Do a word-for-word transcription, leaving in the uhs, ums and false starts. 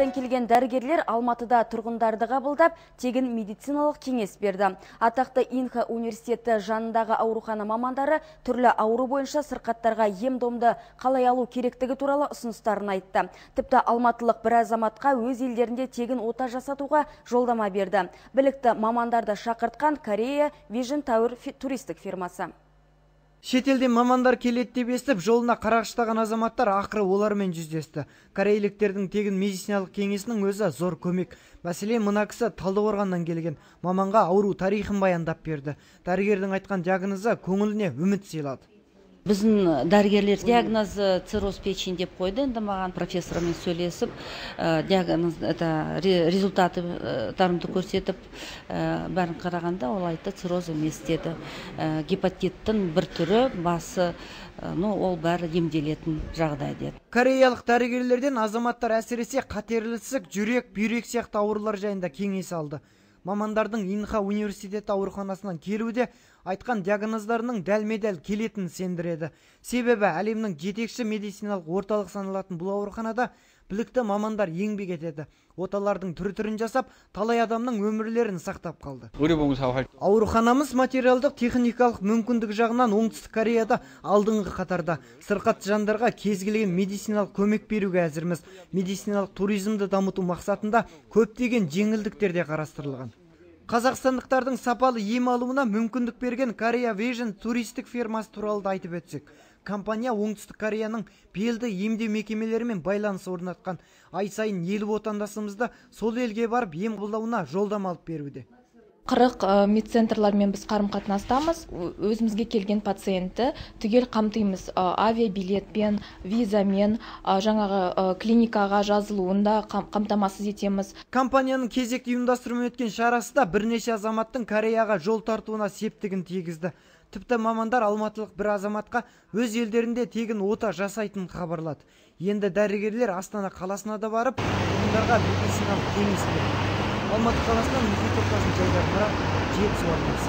шетелдерден келген дәрігерлер Алматыда тұрғындарды қабылдап, тегін медициналық кеңес берді. Атақты Инха университеті жанындағы аурухана мамандары түрлі ауру бойынша сырқаттарға ем-домды қалай алу керектігі туралы ұсыныстарын айтты. Тіпті алматылық бір азаматқа өз елдерінде тегін ота жасатуға жолдама берді. Білікті мамандарды шақыртқан Корея Vision Tower туристік фирмасы. Шетелден мамандар келеді деп естіп, жолына қарағыштаған азаматтар ақыры олармен жүздесті. Корейліктердің тегін медициналық кеңесінің өзі зор көмек. Мәселен, мына кісі Талдықорғаннан келген, маманға ауру тарихын баяндап берді. Дәрігердің айтқан диагнозы көңіліне үміт сыйлады. Біздің дәрігерлер диагнозы цирроз печени деп қойды. Енді маған профессормен сөйлесіп, диагноз, результаттарымды көрсетіп, бәрін қарағанда ол айтты, цирроз емес деді. Гепатиттің бір түрі, басы, ол бәрі емделетін жағдай деді. Кореялық дәрігерлерден азаматтар әсіресе қатерлі ісік, жүрек, бүйрек сияқты аурулар жайында кеңес алды. Мамандардың Инха университеті ауруханасынан келуде айтқан диагноздарының дәлме-дәл келетінін сендіреді. Себебі әлемнің жетекші медициналық орталық саналатын бұл ауруханада білікті мамандар еңбек етеді. Оталардың түр-түрін жасап, талай адамның өмірлерін сақтап қалды. Ауруханамыз материалдық техникалық мүмкіндік жағынан Оңтүстік Кореяда алдыңғы қатарда. Сырқат жандарға кез келген медициналық көмек беруге әзірміз. Медициналық туризмді дамыту мақсатында көптеген жеңілдіктер де қарастырылған. Қазақстандықтардың сапалы ем алуына мүмкіндік берген Корея Vision туристік фирмасы туралы да айтып өтсек. Компания Оңтүстік Кореяның белді емдеу мекемелерімен байланыс орнатқан. Ай сайын елу отандасымызды сол елге барып ем қабылдауына жолдама алып беруде. қырық медцентрлармен біз қарым-қатынастамыз. Өзімізге келген пациентті түгел қамтимыз. Авиабилетпен, визамен, жаңағы клиникаға жазылуында қамтамасыз етеміз. Компанияның кезекті ұйымдастырумен өткен шарасында бірнеше азаматтың Кореяға жол тартуына септігін тигізді. Тіпті мамандар алматылық бір азаматқа өз елдерінде тегін ота жасайтынын хабарлады. Енді дәрігерлер Астана қаласына да барып, тұрғындарға медициналық кеңес берді. Алматы қаласынан мұхит ортасын жайдар, бірақ жетісу арнасы.